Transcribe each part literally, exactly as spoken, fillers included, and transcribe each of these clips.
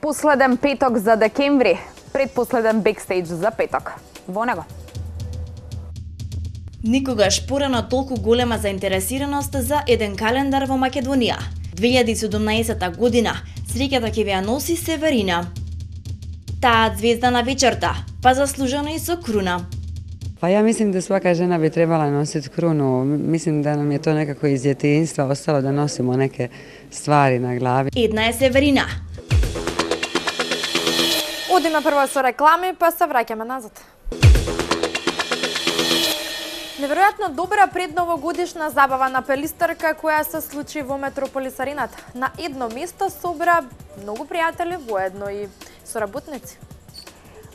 Последен петок за декември, предпоследен бекстејдж за петок. Во него. Никогаш порано толку голема заинтересираност за еден календар во Македонија. две илјади и седумнаесета година среќата ќе ја носи Северина. Таа звезда на вечерта, па заслужено и со круна. Па ја мислим да свака жена би требала носит круну. Мислим да нам е тоа некако из детинства остало да носимо неке ствари на глави. Една е Северина. Одиме прво со реклами, па се враќаме назад. Неверојатно добра предновогодишна забава на Пелистерка која се случи во Метрополис Арената. На едно место собра многу пријатели, воедно и соработници.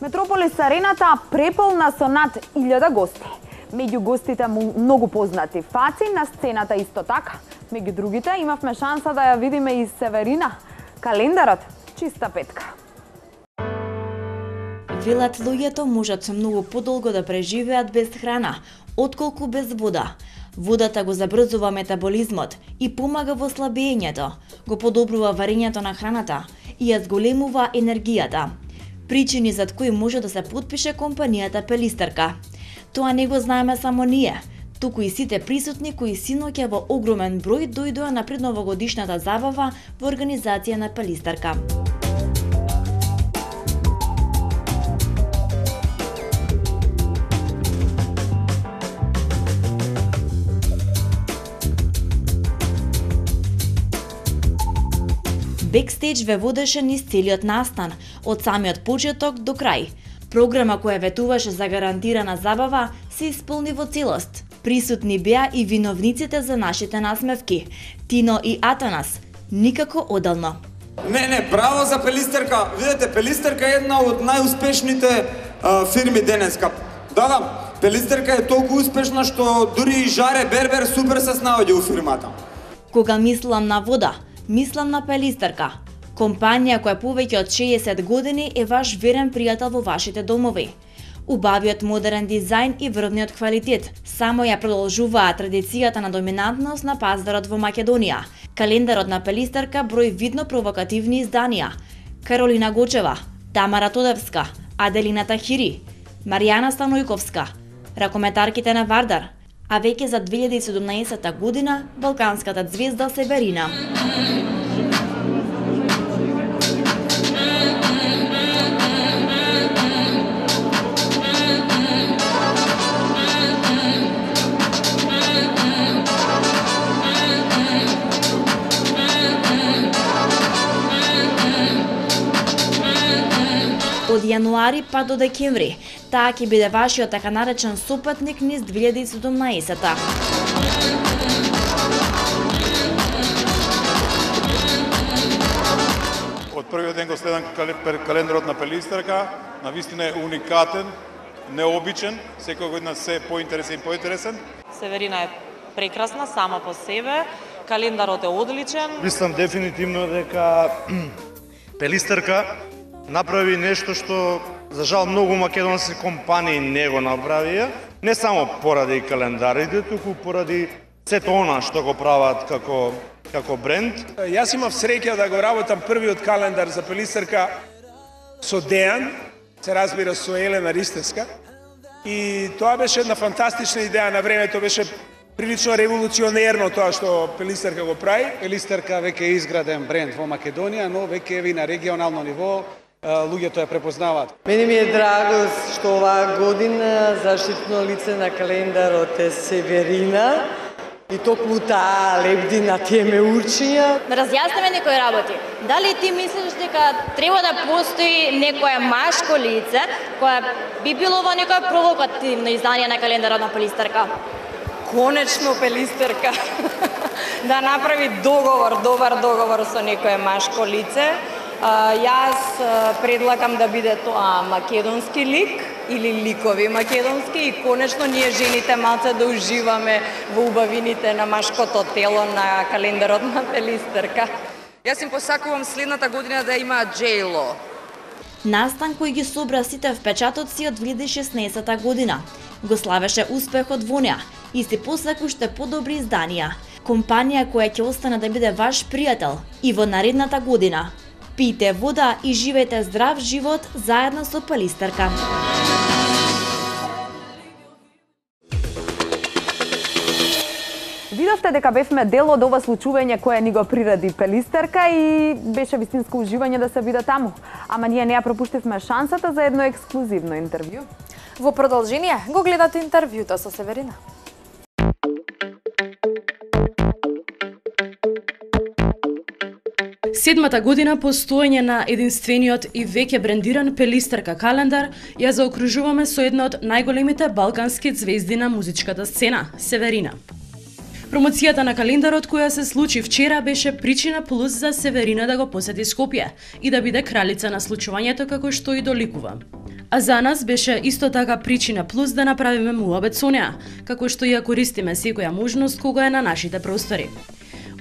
Метрополис Арената преполна со над илјада гости. Меѓу гостите многу познати фаци на сцената исто така. Меѓу другите имавме шанса да ја видиме и Северина. Календарот чиста петка. Велат луѓето можат многу подолго да преживеат без храна, отколку без вода. Водата го забрзува метаболизмот и помага во слабењето, го подобрува варењето на храната и ја зголемува енергијата. Причини зад кои може да се потпише компанијата Пелистерка. Тоа не го знаеме само ние, туку и сите присутни кои синоќа во огромен број дојдоа на предновогодишната забава во организација на Пелистерка. Бекстејдж ве водеше низ целиот настан, од самиот почеток до крај. Програма која ветуваше за гарантирана забава се исполни во целост. Присутни беа и виновниците за нашите насмевки, Тино и Атанас, никако одално. Не, не, браво за Пелистерка. Видете, Пелистерка е една од најуспешните а, фирми денеска. Да, да, Пелистерка е толку успешна што дури и Жаре Бербер супер се снаоѓа у фирмата. Кога мислам на вода, мислам на Пелистерка, компанија која повеќе од шеесет години е ваш верен пријател во вашите домови. Убавиот модерен дизајн и врвниот квалитет само ја продолжуваа традицијата на доминантност на пазарот во Македонија. Календарот на Пелистерка брои видно провокативни изданија: Каролина Гочева, Тамара Тодевска, Аделина Тахири, Маријана Станојковска, ракометарките на Вардар, а веќе за две илјади и седумнаесета година балканската звезда Северина. Од јануари па до декември, таа ќе биде вашиот така наречен сопатник низ две илјади и седумнаесета. Од првиот ден го следам календарот на Пелистерка, навистина е уникатен, необичен, секоја година се поинтересен и поинтересен. Северина е прекрасна сама по себе, календарот е одличен. Мислам дефинитивно дека Пелистерка направи нешто што за жал многу македонски компании не го направија, не само поради календарите, туку поради сето она што го прават како како бренд. Јас имав среќа да го работам првиот календар за Пелистерка со Дејан, се разбира со Елена Ристевска, и тоа беше една фантастична идеја на времето, беше прилично револуционерно тоа што Пелистерка го прави. Пелистерка веќе е изграден бренд во Македонија, но веќе е на регионално ниво, луѓето ја препознаваат. Мене ми е драго што оваа година заштитно лице на календарот е Северина и токму таа лебди на тие меурчиња. Да разјасниме некои работи. Дали ти мислиш дека треба да постои некое машко лице кое би било во некое провокативно издание на календарот на Пелистерка? Конечно Пелистерка да направи договор, добар договор со некое машко лице. Јас предлагам да биде тоа македонски лик или ликови македонски и конечно ние жените малце да уживаме во убавините на машкото тело на календарот на Пелистерка. Јас им посакувам следната година да има Джейло. Настан кој ги собра сите впечатоци од две илјади и шеснаесета година. Го славеше успехот во неа и се посака уште подобри изданија. Компанија која ќе остане да биде ваш пријател и во наредната година. Пијте вода и живеете здрав живот заедно со Пелистерка. Видовте дека бевме дел од ова случување кое ни го приреди Пелистерка и беше вистинско уживање да се биде таму. Ама ние не ја пропуштивме шансата за едно ексклузивно интервју. Во продолжение го гледате интервјуто со Северина. Седмата година постоење на единствениот и веќе брендиран Пелистерка календар ја заокружуваме со една од најголемите балкански ѕвезди на музичката сцена – Северина. Промоцијата на календарот која се случи вчера беше причина плюс за Северина да го посети Скопје и да биде кралица на случувањето како што и доликува. А за нас беше исто така причина плюс да направиме муабет со неа, како што ја користиме секоја можност кога е на нашите простори.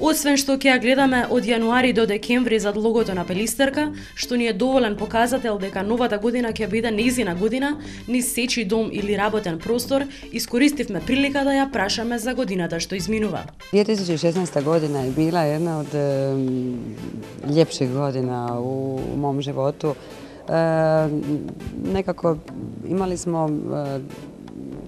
Освен што ќе ја гледаме од јануари до декември зад логото на Пелистерка, што ни е доволен показател дека новата година ќе биде нејзина година, низ сечи дом или работен простор, искористивме прилика да ја прашаме за годината што изминува. две тисячи и шеснаесета година е била една од е, лепших година у, у мом животу. Е, некако имали смо е,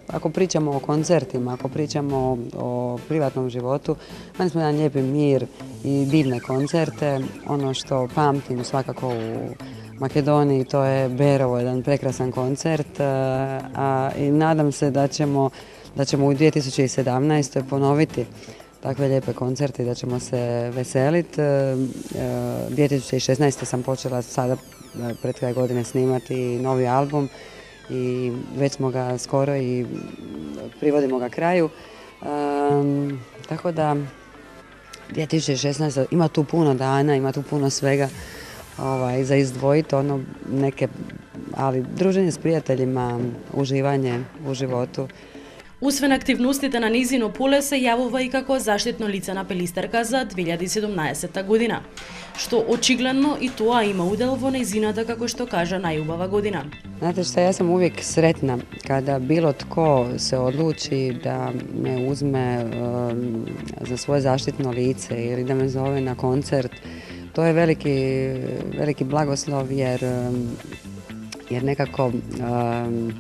ако pričamo o koncertima, ako pričamo o privatnom životu, imali smo jedan lijepi mir i divne koncerte. Ono što pamtim svakako u Makedoniji, to je Berovo, jedan prekrasan koncert, a i nadam se da ćemo, da ćemo u dvije tisuće sedamnaestoj ponoviti takve lijepe koncerte i da ćemo se veseliti. dvije tisuće šesnaeste sam počela sada pred kraj godine snimati novi album i već smo ga skoro i privodimo ga kraju. Um, tako da dvije tisuće šesnaesta ima tu puno dana, ima tu puno svega ovaj, za izdvojiti, ono neke, ali druženje s prijateljima, uživanje u životu. Освен активностите на низино поле се јавува и како заштитно лице на Пелистерка за две илјади и седумнаесета година, што очигледно и тоа има удел во незината, како што кажа, најубава година. Znate šta, ja sam uvijek sretna kada bilo tko se odluči da me uzme um, za svoje zaštitno lice ili da me zove na koncert. To je veliki, veliki blagoslov jer, um, jer nekako um,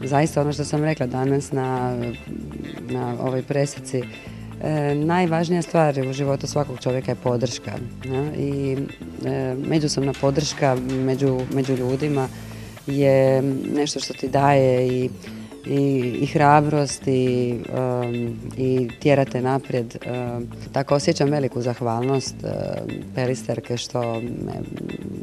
zaista ono što sam rekla danas na, na ovoj presici, e, najvažnija stvar u životu svakog čovjeka je podrška. Ne? I e, međusobna podrška među, među ljudima je nešto što ti daje i, i, i hrabrost i, um, i tjerate naprijed. Um, tako osjećam veliku zahvalnost um, Pelisterke što me,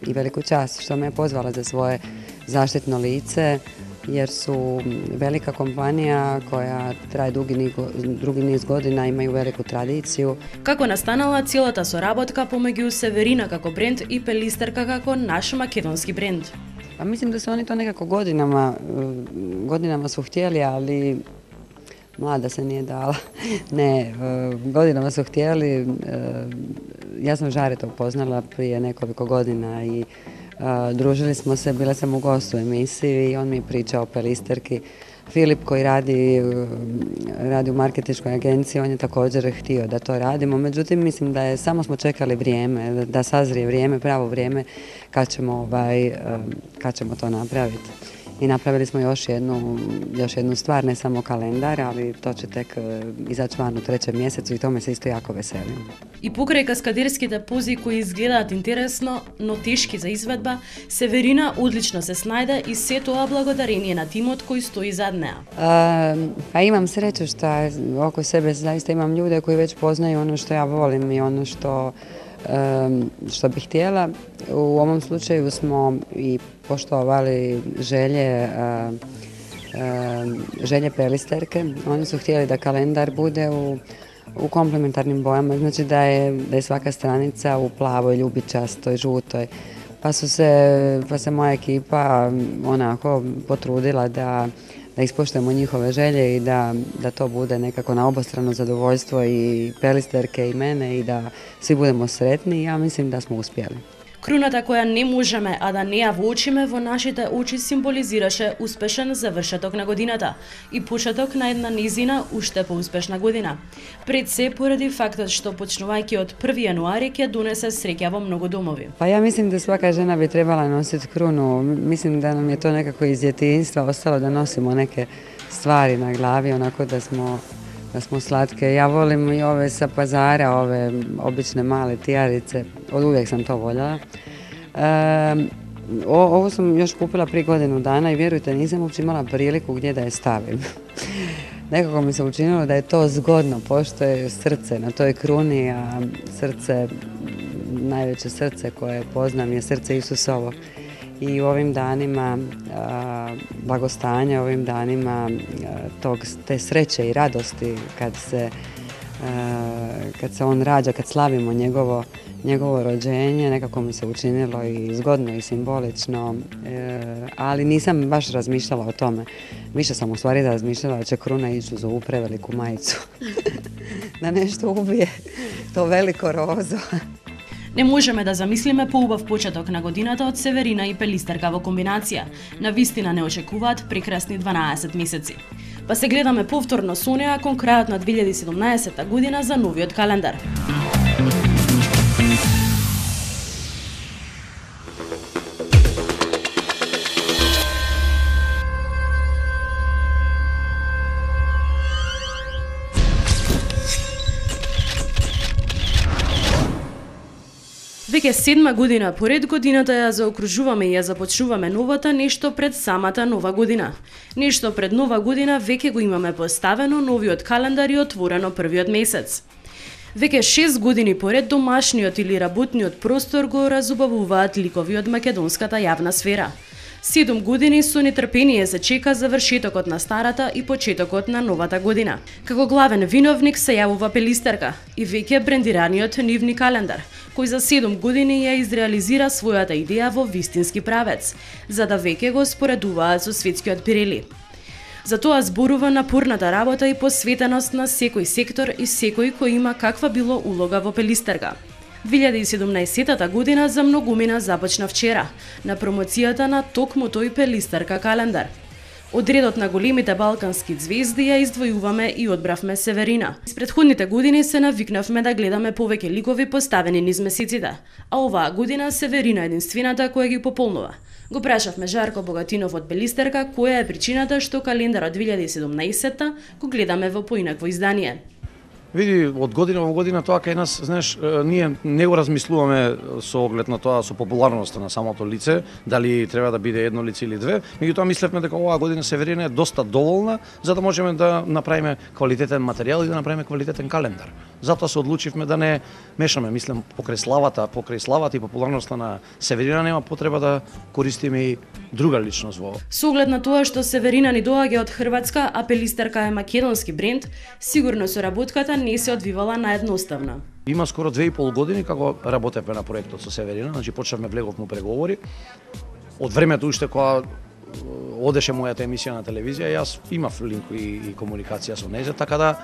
i veliku čast što me je pozvala za svoje zaštitno lice, jer su velika kompanija koja traje dugi niz, dugi niz godina, imaju veliku tradiciju. Како настанала целата соработка помеѓу Северина како бренд и Пелистерка како наш македонски бренд? Pa mislim da su oni to nekako godinama, godinama su htjeli, ali mlada se nije dala. Ne, godinama su htjeli. Ja sam Žareta upoznala prije nekoliko godina i Uh, družili smo se, bila sam u gostu u emisiji i on mi je pričao o Pelisterki. Filip koji radi, radi u marketinškoj agenciji, on je također htio da to radimo, međutim mislim da je, samo smo čekali vrijeme, da, da sazrije vrijeme, pravo vrijeme kad ćemo, ovaj, kad ćemo to napraviti. I napravili smo još jednu, još jednu stvar, ne samo kalendar, ali to će tek izaći van u trećem mjesecu i tome se isto jako veselim. И покрај каскадерските пози кои изгледаат интересно, но тешки за изведба, Северина одлично се снајде и се тоа благодарение на тимот кој стои зад неа. A, pa imam sreću što oko sebe zaista imam ljude koji već poznaju ono što ja volim i ono što Um, što bih htjela. U ovom slučaju smo i poštovali želje, uh, uh, želje Pelisterke. Oni su htjeli da kalendar bude u, u komplementarnim bojama, znači da je, da je svaka stranica u plavoj, ljubičastoj, žutoj. Pa su se, pa se moja ekipa onako potrudila da da ispoštujemo njihove želje i da, da to bude nekako na obostrano zadovoljstvo i Pelisterke i mene i da svi budemo sretni. Ja mislim da smo uspjeli. Круната која не можеме, а да не ја воочиме, во нашите очи символизираше успешен завршеток на годината и почеток на една низина уште поуспешна година. Пред се поради фактот што почнувајќи од први јануари ќе донесе среќа во многу домови. Па ја мислим да свака жена би требала носити круну. Мислим да нам е то некако из дјетинства остало да носимо неке ствари на глави, онако да smo da smo slatke. Ja volim i ove sa pazara, ove obične male tijarice, od uvijek sam to voljela. E, ovo sam još kupila prije godinu dana i vjerujte, nisam uopće imala priliku gdje da je stavim. Nekako mi se učinilo da je to zgodno, pošto je srce na toj kruni, a srce, najveće srce koje poznam je srce Isusovo. I u ovim danima a, blagostanja, ovim danima a, tog, te sreće i radosti kad se, a, kad se on rađa, kad slavimo njegovo, njegovo rođenje, nekako mi se učinilo i zgodno i simbolično, e, ali nisam baš razmišljala o tome. Više sam u stvari razmišljala da će kruna ići uz ovu preveliku majicu, da nešto ubije to veliko rozo. Не можеме да замислиме поубав почеток на годината од Северина и Пелистерка во комбинација. На вистина не очекуваат прекрасни дванаесет месеци. Па се гледаме повторно со неа кон крајот на две илјади и седумнаесетта година за новиот календар. Веќе седма година поред годината ја заокружуваме и ја започнуваме новата нешто пред самата нова година. Нешто пред нова година веќе го имаме поставено новиот календар и отворено првиот месец. Веќе шест години поред домашниот или работниот простор го разубавуваат ликови од македонската јавна сфера. Седум години со нетрпение се чека завршетокот на старата и почетокот на новата година. Како главен виновник се јавува Пелистерка и веќе брендираниот нивни календар, кој за седум години ја изреализира својата идеја во вистински правец, за да веќе го споредуваат со светскиот Пирели. За тоа зборува напорната работа и посветеност на секој сектор и секој кој има каква било улога во Пелистерка. две илјади и седумнаесетта година за многумина започна вчера, на промоцијата на токму тој Пелистерка календар. Од редот на големите балкански звезди ја издвојуваме и одбравме Северина. Из претходните години се навикнавме да гледаме повеќе ликови поставени низ месеците, а оваа година Северина единствената која ги пополнува. Го прашавме Жарко Богатинов од Пелистерка која е причината што календарот две илјади и седумнаесетта го гледаме во поинакво издание. Види, од година во година тоа кај нас, знаеш, ние не го размислуваме со оглед на тоа, со популарноста на самото лице, дали треба да биде едно лице или две, меѓутоа мислевме дека оваа година Северина е доста доволна за да можеме да направиме квалитетен материјал и да направиме квалитетен календар. Затоа се одлучивме да не мешаме, мислам, покрај славата, покрај славата и популарноста на Северина нема потреба да користиме и друга личност во. Со оглед на тоа што Северина ни доаѓа од Хрватска, а Пелистерка е македонски бренд, сигурно соработката не се одвивала наедноставно. Има скоро две и пол години како работевме на проектот со Северина, значи почнавме влеговме преговори. Од времето уште кога одеше мојата емисија на телевизија, јас имав линк и, и комуникација со нејзе, така да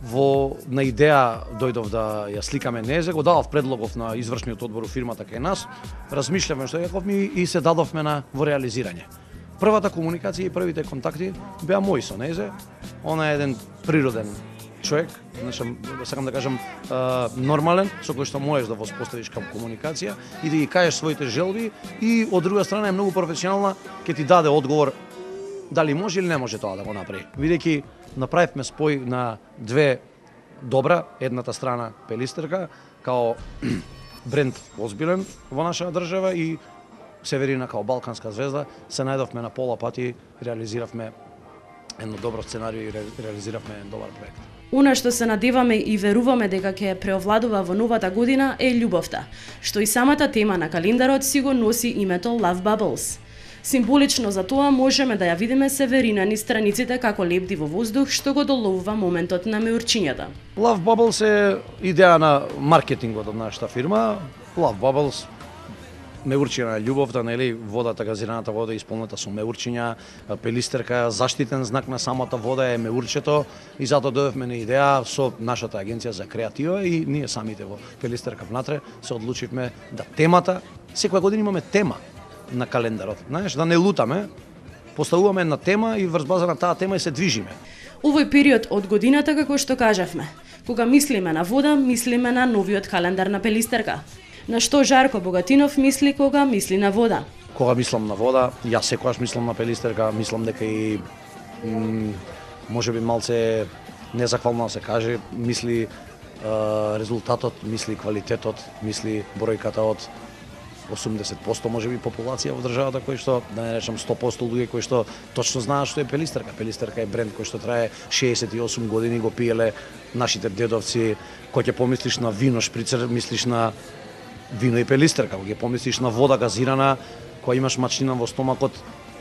во на идеја дојдов да ја сликаме нејзе, го дадов предлогов на извршниот одбор у фирмата кај нас, размишлявме што јаковме и се дадовме на во реализирање. Првата комуникација и првите контакти беа мои со нејзе. Она е еден природен човек, значи сакам да кажам нормален, со кој што можеш да воспоставиш кам комуникација и да ги кажеш своите желби и од друга страна е многу професионална, ќе ти даде одговор дали може или не може тоа да го направи. Бидејќи направивме спој на две добра, едната страна Пелистерка као бренд озбилен во нашата држава и Северина као балканска звезда, се најдовме на пола пати, реализиравме едно добро сценарио и реализиравме еден добар проект. Она што се надеваме и веруваме дека ќе преовладува во новата година е љубовта, што и самата тема на календарот си го носи името Love Bubbles. Символично за тоа можеме да ја видиме Северина низ страниците како лебди во воздух што го доловува моментот на меурчињата. Love Bubbles е идеја на маркетингот од нашата фирма. Love Bubbles меурчина на љубовта, нели, водата, газираната вода е исполнета со меурчиња, пелистерка, заштитен знак на самата вода е меурчето и затоа дојдовме на идеја со нашата агенција за креатива и ние самите во Пелистерка внатре се одлучивме да темата, секоја година имаме тема на календарот, знаеш, да не лутаме, поставуваме една тема и врз база на таа тема и се движиме. Овој период од годината, како што кажавме, кога мислиме на вода, мислиме на новиот календар на Пелистерка. На што Жарко Богатинов мисли кога мисли на вода? Кога мислам на вода, јас секогаш мислам на Пелистерка, мислам дека и можеби малце незахвално да се каже, мисли е, резултатот, мисли квалитетот, мисли бројката од осумдесет проценти можеби популација во државата кој што, да не речам сто проценти луѓе кои што точно знаат што е Пелистерка. Пелистерка е бренд кој што трае шеесет и осум години, го пиеле нашите дедовци. Кој ќе помислиш на вино шприцер, мислиш на вино и Пелистерка. Кога ќе помислиш на вода газирана, кога имаш мачнина во стомакот,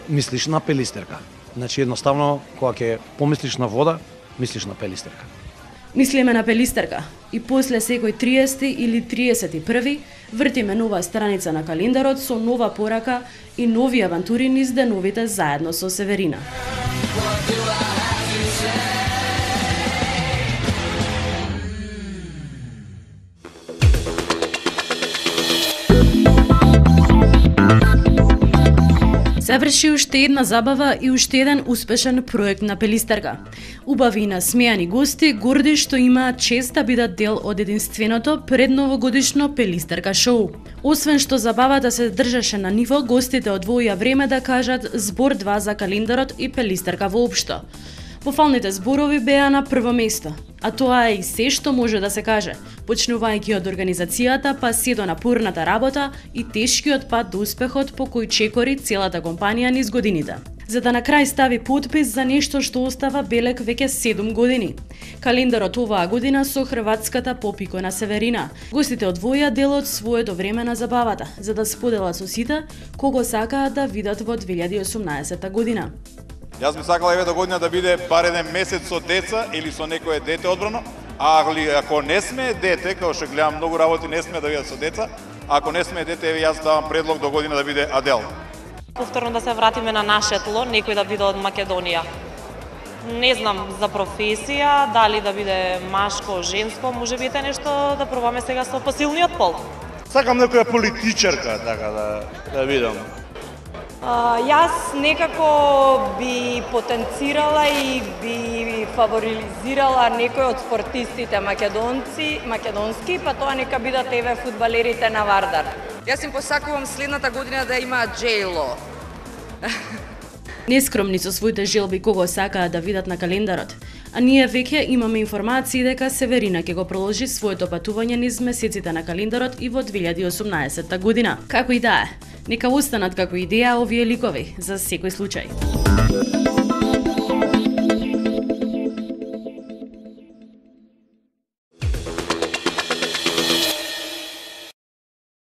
мислиш на Пелистерка. Значи едноставно кога ќе помислиш на вода, мислиш на Пелистерка. Мислиме на Пелистерка и после секој триесети или триесет и први вртиме нова страница на календарот со нова порака и нови авантури низ деновите заедно со Северина. Заврши уште една забава и уште еден успешен проект на Пелистерка. Убави и насмејани гости, горди што имаат чест да бидат дел од единственото предновогодишно Пелистерка шоу. Освен што забавата се држеше на ниво, гостите одвоија време да кажат збор два за календарот и Пелистерка воопшто. Пофалните зборови беа на прво место, а тоа е и се што може да се каже, почнувајќи од организацијата па се до напорната работа и тешкиот пат до успехот по кој чекори целата компанија низ годините. За да на крај стави потпис за нешто што остава белек веќе седум години. Календарот оваа година со хрватската поп-икона Северина. Гостите одвоја дел од своето време на забавата, за да споделат со сите кого сакаат да видат во две илјади и осумнаесетта година. Јас би сакала еве до година да биде бар еден месец со деца или со некое дете одбрано, а ако не сме дете, како што гледам многу работи не сме да бидат со деца, ако не сме дете, еве јас давам предлог до година да биде Адел. Повторно да се вратиме на наше тло, некој да биде од Македонија. Не знам за професија, дали да биде машко, женско, може би е нешто да пробаме сега со посилниот пол. Сакам некоја политичарка, така да, да видам. Uh, јас некако би потенцирала и би фаворизирала некој од спортистите македонци, македонски, па тоа нека бидат еве фудбалерите на Вардар. Јас им посакувам следната година да има Джейло. Нескромни со своите желби кого сакаат да видат на календарот, а ние веќе имаме информации дека Северина ќе го продолжи своето патување низ месеците на календарот и во две илјади и осумнаесетта година. Како и да е, нека останат како идеја овие ликови за секој случај.